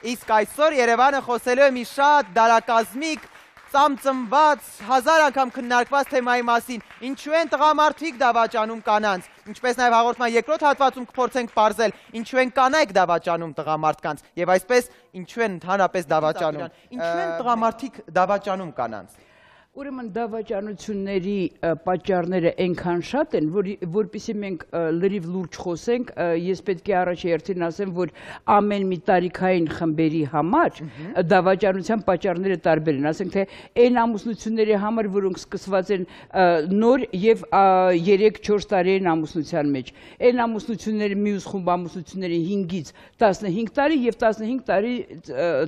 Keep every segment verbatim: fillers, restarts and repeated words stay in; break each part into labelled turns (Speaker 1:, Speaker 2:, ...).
Speaker 1: Իսկ այսօր Երևանը խոսելու է մի շատ դարակազմիկ, ծամծմված, հազար անգամ քննարկված թեմայի մասին, ինչու են տղամարդիկ դավաճանում կանանց, ինչպես նաև հաղորդման երկրորդ հատվածում կփորձենք պարզել, ինչու են կանայք դավաճանում տղամարդկանց, եւ այսպես ինչու են ընդհանրապես դավաճանում, ինչու են տղամարդիկ դավաճանում կանանց։
Speaker 2: Ուրեմն դավաճանությունների պատճառները այնքան շատ են, որպեսզի մենք լրիվ լուրջ խոսենք, ես պետք է առաջերտին ասեմ, որ ամեն մի տարիքային խմբերի համար դավաճանության պատճառները տարբեր են, ասենք թե այն ամուսնությունների համար, որոնք սկսված են նոր եւ երեք-չորս տարիային ամուսնության մեջ, այն ամուսնությունների մյուս խումբ ամուսնությունների հինգից տասնհինգ տարի եւ տասնհինգ տարի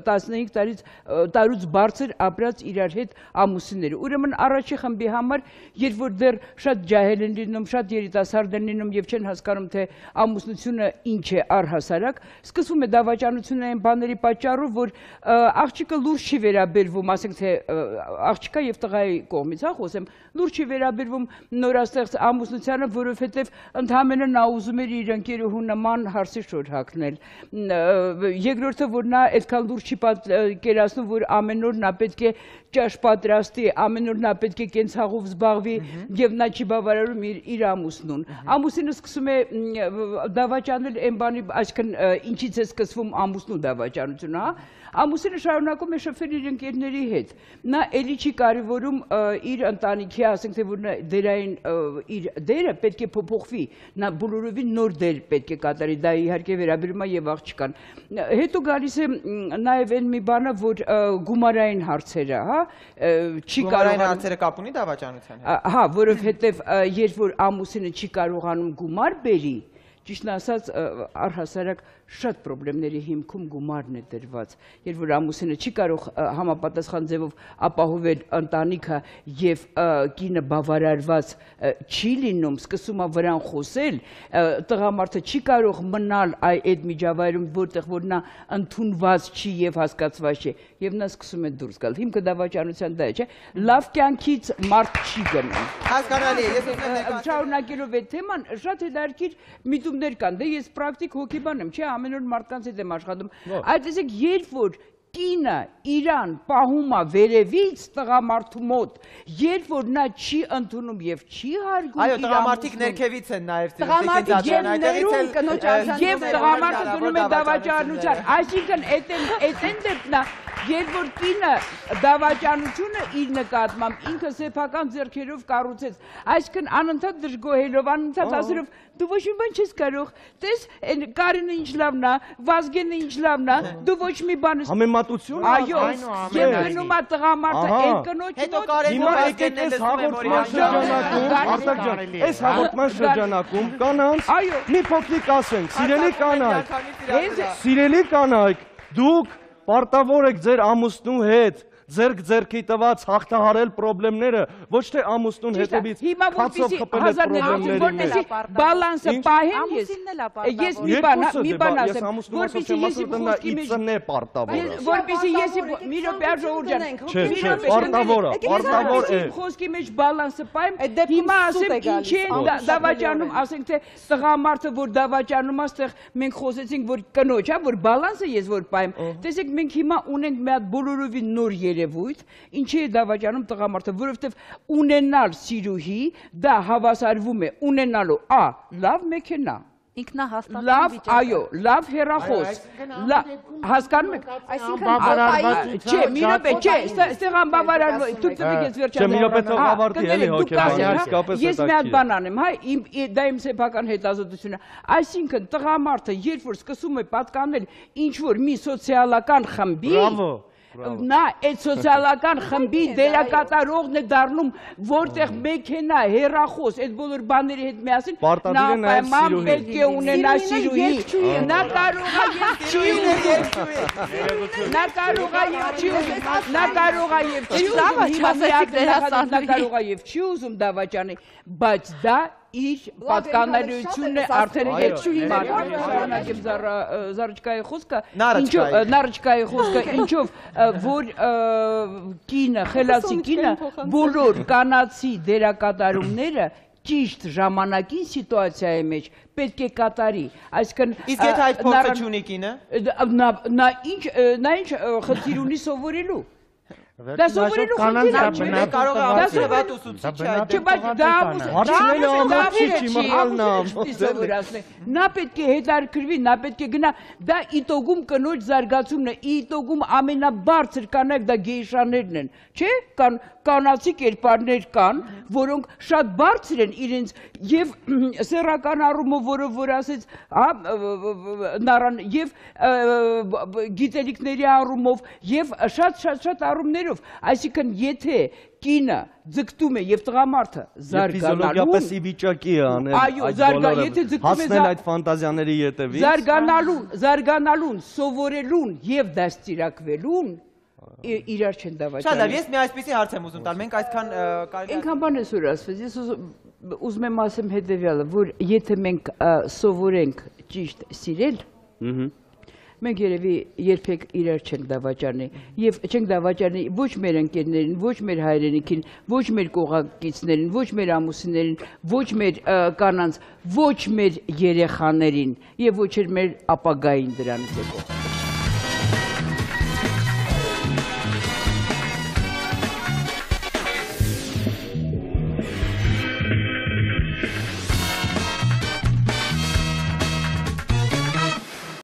Speaker 2: տասնհինգ տարից տարուց բարձր ապրած իրար հետ ամուսիններ Ուրեմն առաջի խմբի համար, երբ որ դեռ շատ ջահել են լինում, շատ երիտասարդ են լինում եւ չեն հասկանում, թե ամուսնությունը ինչ է առհասարակ, սկսվում է դավաճանությունը այն բաների պատճառով, որ աղջիկը լուրջ չի վերաբերվում, ասենք թե աղջիկա եւ տղայի կողմից, հա, խոսեմ, լուրջ չի վերաբերվում նորաստեղծ ամուսնությանը, որովհետեւ ընդհանրապես նա ուզում էր իր ընկերուհու նման հարսի շոր հագնել։ Երկրորդը, որ նա այդքան լուրջ չի պատկերացնում, որ ամեն օր նա պետք է ճաշ պատրաստի, ամեն օր նա պետք է կենցաղով զբաղվի եւ նա չի բավարարում իր ամուսնուն։ Ամուսինը սկսում է դավաճանել այն բանի, այսինքն ինչից է սկսվում ամուսնու դավաճանությունը, հա։ Ամուսինը շարունակում է շփվել իր ընկերների հետ։ Նա էլի չի կարևորում իր ընտանիքի, ասենք թե որ դերային իր դերը պետք է փոփոխվի, նա բոլորովին նոր դեր պետք է կատարի, դա իհարկե վերաբերում է եւ աղջկան։ Հետո գալիս է նաեւ այն մի բանը, որ գումարային հարցերը, հա, չի
Speaker 1: կարողանում հարցերը կապ ունի դավաճանության հետ։
Speaker 2: Հա, որովհետեւ երբ որ ամուսինը չի կարողանում գումար բերի, ճիշտն ասած առհասարակ շատ խնդիրների հիմքում գումարն է դրված, երբ որ ամուսինը չի կարող համապատասխան ձևով ապահովել ընտանիքը եւ կինը բավարարված չի լինում, սկսում է վրան խոսել, տղամարդը չի կարող մնալ այդ միջավայրում, որտեղ որ նա ընդունված չի եւ հասկացված չի, եւ նա սկսում է դուրս գալ։ Հիմքը դավաճանության դա է, չէ՞։ Լավ կյանքից մարդ չի գնում։
Speaker 1: Հասկանալի է, ես ուզում եմ
Speaker 2: շարունակելով այդ թեման, շատ հետաքրքիր միտումներ կան, դե ես պրակտիկ հոգեբան եմ, չէ՞, ամեն օր մարդկանց հետ եմ աշխատում։ Այդ տեսեք, երբ որ կինը իրան պահում է վերևից տղամարդու մոտ, երբ որ նա չի ընդունում եւ չի հարգում
Speaker 1: Այո, տղամարդիկ ներքևից են նաեւ
Speaker 2: տղամարդիկ եւ տղամարդը գնում է դավաճանության, այսինքն այդեն դեպքն է, երբ որ կինը դավաճանությունը իր նկատմամբ ինքը սեփական ձեռքերով կառուցեց, այսինքն անընդհատ դժգոհելով, անընդհատ ասելով դու ոչ մի բան չես կարող, տես Կարինը ինչ լավն է, Վազգենը ինչ լավն է, դու ոչ մի բան ես
Speaker 3: Համեմատություն
Speaker 2: Այո, եւ գնում է տղամարդը այդ կնոջ
Speaker 1: հետո Կարենը Վազգենն է
Speaker 3: հաղորդման շրջանակում, Արտակ ջան, այս հաղորդման շրջանակում կանանց մի փոքրիկ ասենք, սիրելի կանայք, սիրելի կանայք, դուք պարտավոր եք ձեր ամուսնու հետ ձերք ձերքի տված հաղթահարել պրոբլեմները, ոչ թե ամուսնուն հետևից քացով խփել այդ պրոբլեմների մեջ։
Speaker 2: Բալանսը պահեն ես։ Ես մի բան, մի բան ասեմ,
Speaker 3: որպեսզի ես իծնե պարտավոր։
Speaker 2: Որպեսզի ես մի րոպե ժողովուրդ ջան։
Speaker 3: Չէ, չէ, պարտավոր է, պարտավոր է։
Speaker 2: Խոսքի մեջ բալանսը պահեմ, հիմա ասեմ ինչ է դավաճանում, ասենք թե տղամարդը որ դավաճանում է, այստեղ մենք խոսեցինք որ կնոջ, հա, որ բալանսը ես որ պահեմ։ Տեսեք մենք հիմա ունենք մի հատ բոլորովին նոր երևույթ, ինչի է դավաճանում տղամարդը, որովհետև ունենալ սիրուհի, դա հավասարվում է ունենալու ա, լավ մեքենա, լավ, այո, լավ հեռախոս, հասկանում եք, չէ, մի րոպե, չէ, ստեղ անբավարարվում, դուք տվեք ես վերջանալ, ես մի հատ բան անեմ, դա իմ սեփական հետազոտությունը, այսինքն տղամարդը, երբ որ սկսում է պատկանել ինչ-որ մի սոցիալական խմբի, նա այդ սոցիալական խմբի դերակատարողն է դառնում, որտեղ մեքենա, հեռախոս, այդ բոլոր բաների հետ միասին, նա պայման պետք է ունենա սիրուհի, նա կարող է եւ չի ուզում, նա կարող է եւ չի ուզում, նա կարող է եւ չի ուզում, նա կարող է եւ չի ուզում դավաճանի, բայց դա իր պատկանելությունն է արդեն երկչուհի շարունակեմ Զարուչկայի խոսքը, Նարուչկայի խոսքը, ինչով որ կինը, խելացի կինը, բոլոր կանացի դերակատարումները ճիշտ ժամանակին սիտուացիայի մեջ պետք է կատարի, այսինքն
Speaker 1: իսկ եթե այդ փորձը չունի կինը
Speaker 2: նա ինչ նա ինչ խնդիր ունի սովորելու դա սովորելու խնդիր չէ
Speaker 1: կարող է ամսեվատ ուսուցիչ այդ
Speaker 2: բայց դա
Speaker 3: հարցնելը ամուսիչի մահալն
Speaker 2: նա պետք է հետարքրվի նա պետք է գնա դա իտոգում կնոջ զարգացումն է իտոգում ամենաբարձր կանայք դա գեյշաներն են չէ կան կանացի կերպարներ կան որոնք շատ բարձր են իրենց եւ սեռական առումով որը որ ասեց նարան եւ գիտելիքների առումով եւ շատ շատ շատ առումներով այսինքն եթե կինը ձգտում է եւ տղամարդը զարգանալու
Speaker 3: ֆիզիոլոգիապես ի վիճակի է անել
Speaker 2: այո զարգա եթե ձգտում է
Speaker 3: հասնել այդ ֆանտազիաների յետևից
Speaker 2: զարգանալուն զարգանալուն սովորելուն եւ դաստիարակվելուն իրար չեն դավաճանում։
Speaker 1: Շատ լավ, ես մի այսպեսի հարց եմ ուզում տալ, մենք այսքան կարելի է
Speaker 2: Այնքան բան է որ ասված, ես ուզում եմ ասեմ հետեւյալը, որ եթե մենք սովորենք ճիշտ սիրել, մենք երևի երբեք իրար չենք դավաճանի եւ չենք դավաճանի ոչ մեր ընկերներին, ոչ մեր հայրենիքին, ոչ մեր կողակիցներին, ոչ մեր ամուսիններին, ոչ մեր կանանց, ոչ մեր երեխաներին եւ ոչ էլ մեր ապագային դրանից հետո